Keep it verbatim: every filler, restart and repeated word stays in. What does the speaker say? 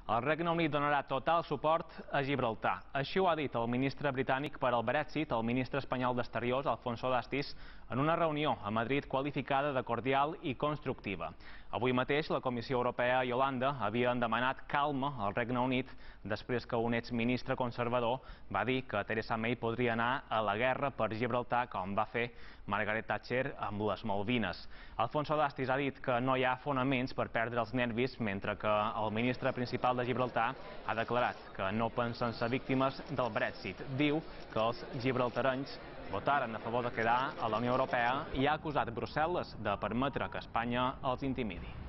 El Regne Unit donarà total suport a Gibraltar. Així ho ha dit el ministre britànic per al Brexit, el ministre espanyol d'Exteriors, Alfonso Dastis, en una reunió a Madrid qualificada de cordial i constructiva. Avui mateix la Comissió Europea i Holanda havien demanat calma al Regne Unit després que un exministre conservador va dir que Theresa May podria anar a la guerra per Gibraltar, com va fer Margaret Thatcher amb les Malvines. Alfonso Dastis ha dit que no hi ha fonaments per perdre els nervis, mentre que el ministre principal de Gibraltar ha declarat que no pensen ser víctimes del Brexit. Diu que els gibraltarenys votaren a favor de quedar a la Unió Europea i ha acusat Brussel·les de permetre que Espanya els intimidi.